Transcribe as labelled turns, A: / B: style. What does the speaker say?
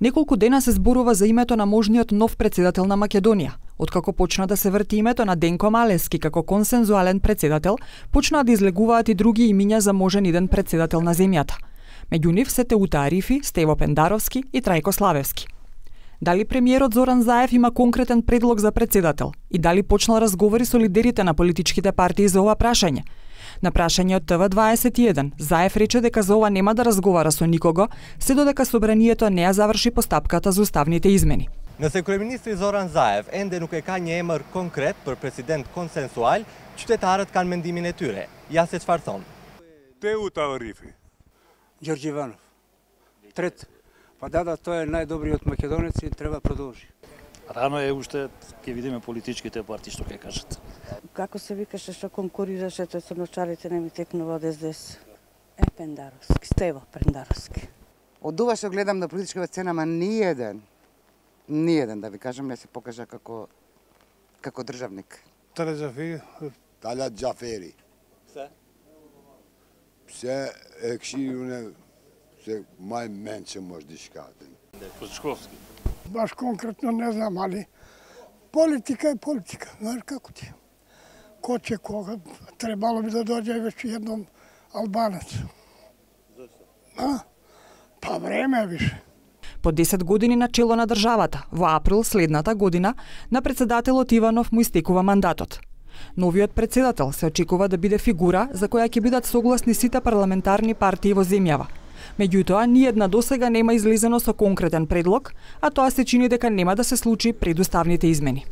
A: Неколку дена се зборува за името на можниот нов председател на Македонија. Откако почна да се врти името на Денко Малевски како консензуален председател, почнаа да излегуваат и други имиња за можен иден председател на земјата. Меѓу нив се Теута Арифи, Стево Пендаровски и Трајко Славевски. Дали премиерот Зоран Заев има конкретен предлог за председател и дали почнал разговори со лидерите на политичките партии за ова прашање? На прашање од ТВ21, Заев рече дека за ова нема да разговара со никого, се додека собранието не ја заврши постапката за уставните измени.
B: Nëse kryeministri Zoran Zaev ende nuk e ka një emër konkret për president konsensual, qytetarët kanë mendimin e tyre. Ja se çfarë thon.
C: Теута Арифи.
D: Ѓорѓе Иванов. Трет. Па да, тој е најдобриот македонец и треба продолжи.
E: Рано е уште, ќе видиме политичките партии што ќе кажат.
F: Како се викаше што конкурираше тој со ночарите, не ми текнува од СДС. Стево Пендаровски.
G: Од ова што гледам на политичката сцена, ама ниеден, да ви кажам, не се покажа како државник.
C: Талат Џафери. Се екшијуне, се мај менче може дишкатен.
E: Козичковски.
H: Баш конкретно не знам, али политика е политика, знаеш како ти. Ко ќе кога, требало би да дојде веќе едном албанец. Зашто? Па време е више.
A: По 10 години на чело на државата, во април следната година, на председателот Иванов му истекува мандатот. Новиот председател се очекува да биде фигура за која ќе бидат согласни сите парламентарни партии во земјава. Меѓутоа, ниедна досега нема излезено со конкретен предлог, а тоа се чини дека нема да се случи пред уставните измени.